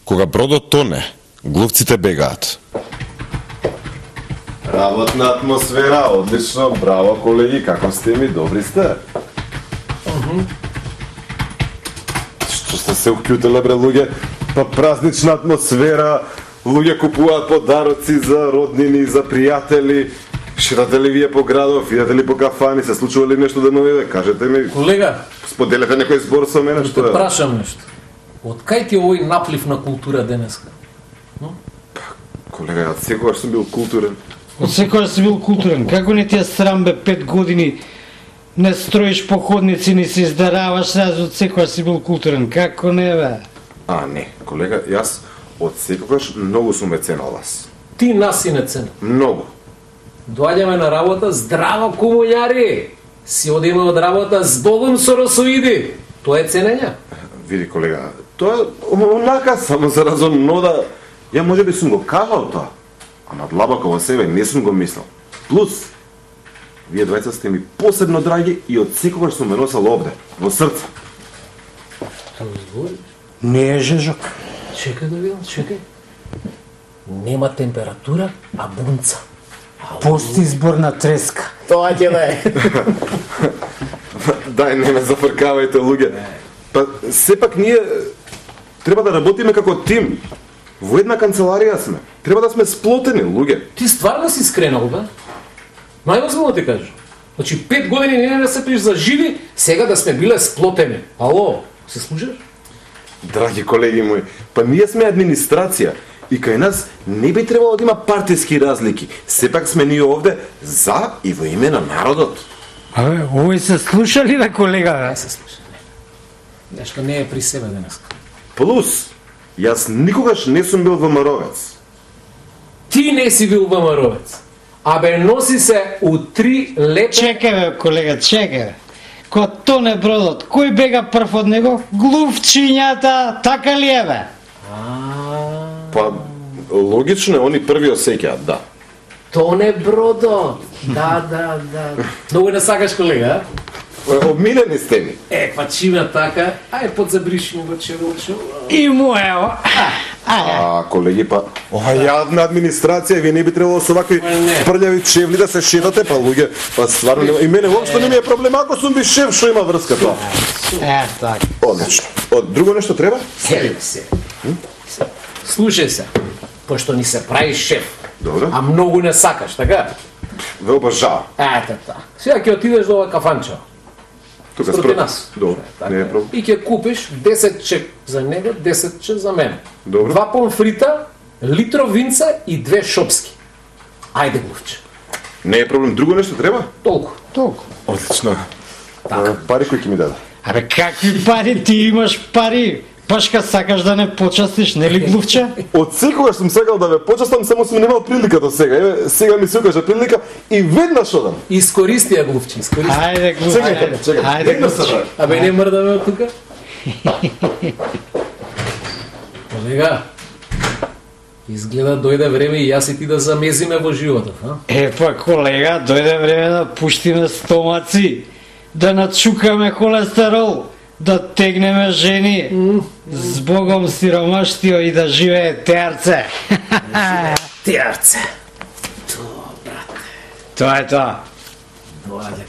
Кога бродот тоне, глувците бегаат. Работна атмосфера, одлично, браво колеги, како сте ми, добри сте? Што сте се уклютиле бре луѓе? Па празнична атмосфера, луѓе купуваат подароци за роднини, за пријатели. Ширате ли вие по градов, идете ли по кафани, се случува ли нешто деновиве? Кажете ми. Колега, споделете некој збор со мене, што што е? Прашам нешто. Од кај ти овој наплив на култура денеска? Колега, јас секогаш сум бил културен. Од секогаш си бил културен. Како не ти е срам бе 5 години не строиш походници, не се издараваш, сега од секогаш си бил културен. Како не бе? Не, колега, јас од секогаш многу сум ме ценал вас. Ти нас си не ценил. Многу. Доаѓаме на работа, здраво комуњари! Си одиме од работа, збогом со росоиди! Тоа е ценење? Види, колега, тоа е онака само за разум, но да... Ја може би сум го кажал тоа, ама длабоко во себе не сум го мислел. Плюс, вие двајца сте ми посебно драги и од секогаш сум ме носел овде, во срце. Како збориш? Не е жежок. Чекај да видам, чекај. Нема температура, а бунца. Пости избор на треска. Тоа ќе да е. Дај, не ме зафркавајте, луѓе. Па, сепак ние треба да работиме како тим. Во една канцеларија сме. Треба да сме сплотени, луѓе. Ти стварно си скренал, бе? Највозможно ти кажеш. Значи, 5 години не да се приш за живи, сега да сме биле сплотени. Ало, се слушаш? Драги колеги мои, па ние сме администрација и кај нас не би требало да има партиски разлики. Сепак сме ние овде за и во име на народот. Абе, овој се слуша ли бе, колега? Не се слуша, не. Нешто не е при себе денеска. Плюс, јас никогаш не сум бил ВМРО-вец. Ти не си бил ВМРО-вец. Абе, носи се у 3 лепе... Чекај бе, колега, чекај бе. Ко тоне бродот, кој бега прв од него? Глувчињата, така ли е бе? Па, логично е, они први осеќаат, да. Тоне бродот. Да. Многу не сакаш, колега, Обмилени сте ми. па чима така, ај подзабриши ми го червочо. И моево. Колеги, па, ова јавна администрација, вие не би требало со вакви прљави чевли да се шетате, па луѓе, па стварно нема, и мене воопшто не ми е проблем, ако сум би шеф, што има врска тоа. Така. Одлично. Друго нешто треба? Сели се. Слушај се, пошто ни се прави шеф, Добро. а многу не сакаш, така? Ве обожавам. Ето та. Сега ќе отидеш до ова кафанчо. Тука Спроти нас. Добро, не е проблем. И ќе купиш 10 чек за него, 10 чек за мене. Добро. 2 помфрита, литро винца и 2 шопски. Ајде, глувче. Не е проблем. Друго нешто треба? Толку. Одлично. Пари кои ќе ми даде? Абе, какви пари? Ти имаш пари. Пашка сакаш да не почастиш, нели глувче? Од секогаш сум сакал да ве почастам, само сум немал прилика до сега. Еве, сега ми се укажа прилика и веднаш одам. Искористи ја, глувче, искористи. Ајде, глувче. Чекај. Ајде, Веднаш глувче. сакам. Абе, не мрдаме од тука. Колега, изгледа дојде време и јас и ти да замезиме во животот, а? Епа, колега, дојде време да пуштиме стомаци, да начукаме холестерол, да тегнеме жени, збогом сиромаштио и да живее теарце. Теарце. Тоа, брате. Тоа е тоа. Доаѓа